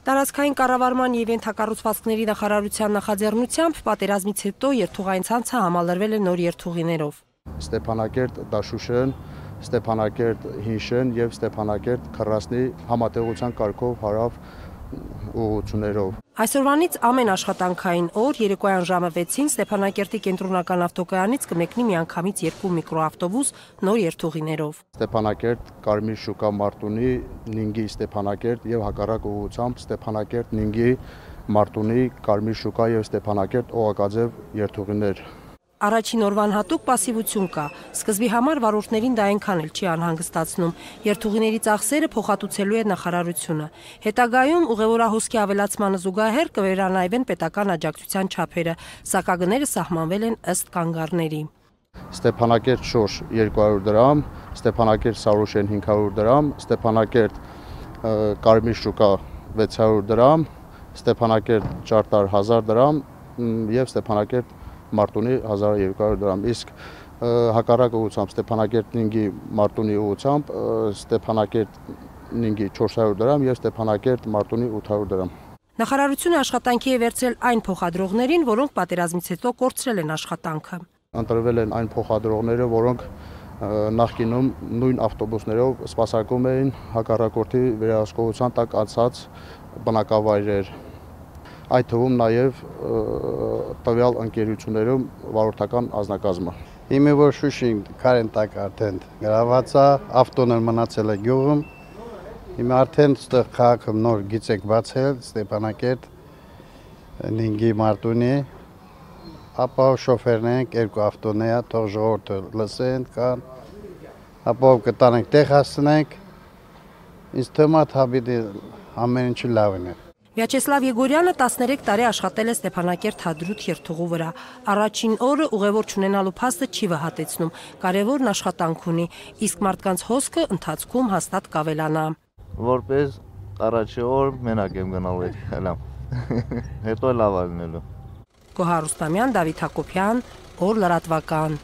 Տարածքային կառավարման և ենթակառուցվածքների նախարարության նախաձեռնությամբ պատերազմից հետո երթուղային ցանցը համալրվել է նոր երթուղիներով։ Ստեփանակերտ Դաշուշեն, Ստեփանակերտ Հինշեն և Ստեփանակերտ Քռասնի համատեղության կարգով հարավ ուղղություններով։ Այսօրվանից ամեն աշխատանքային օր երեկոյան ժամը 6-ին Ստեփանակերտի կենտրոնական ավտոկայանից կմեկնի միանգամից 2 միկրոավտոբուս նոր երթուղիներով։ Ստեփանակերտ Կարմիր շուկա Մարտունի, Նինգի Ստեփանակերտ եւ հակառակ ուղղությամբ Ստեփանակերտ Նինգի Մարտունի, Կարմիր շուկա եւ Ստեփանակերտ Օղակաձև երթուղիներ։ Առաջին օրվան հատուկ պասիվություն կա։ Սկզբի համար վարորդներին դա այնքան էլ չի անհանգստացնում։ Երթուղիների ծախսերը փոխհատուցելու է նախարարությունը։ Հետագայում ուղևորահոսքի ավելացմանը զուգահեռ կվերանայվեն պետական աջակցության չափերը, սակագները սահմանվել են ըստ կանգառների։ Ստեփանակերտ Շոշ 200 դրամ, Ստեփանակերտ Սարուշեն 500 դրամ, Ստեփանակերտ Կարմիր շուկա 600 դրամ, Ստեփանակերտ Ճարտար 1000 դրամ եւ Ստեփանակերտ Մարտունի 1200 դրամ, իսկ հակառակ ուղղությամբ Ստեփանակերտ Նինգի Մարտունի ուղղությամբ Ստեփանակերտ Նինգի 400 դրամ եւ Ստեփանակերտ Մարտունի 800 դրամ։ Նախարարությունը աշխատանքի է վերցրել այն փոխադրողներին, որոնք պատերազմից հետո կորցրել են աշխատանքը։ Ընտրվել են այն փոխադրողները, որոնք նախկինում նույն ավտոբուսներով սպասարկում էին հակառակորդի վերահսկողության տակ անցած բնակավայրեր։ Այդ թվում նաև տվյալ ընկերություններում վարորդական անձնակազմը։ Հիմա որ Շուշին քարեն տակ արդեն գրաված է, ավտոն մնացել է գյուղում։ Հիմա արդեն ստեղ քաղաքում նոր գիծ եք բացել Ստեփանակերտ Նինգի Մարտունի, ապա շոֆերն ենք, 2 ավտոն է, թող ժողովուրդը լսեն, կան, ապա կտանենք տեղ հասցնենք, ինձ թվում է հավիտի ամեն ինչը լավն է։ Վյաչեսլավ Եգորյանը 13 տարի աշխատել է Ստեփանակերտ Հադրութ երթուղու վրա։ Առաջին օրը ուղևոր չունենալու փաստը չի վհատեցնում, կարևորն աշխատանք ունի, իսկ մարդկանց հոսքը ընթացքում հաստատ կավելանա։ Որպես առաջի օր մենակ եմ գնալ հելամ, հետո լավ ալնելու։ Գոհար Ռուստամյան, Դավիթ Հակոբյան, Օր լրատվական։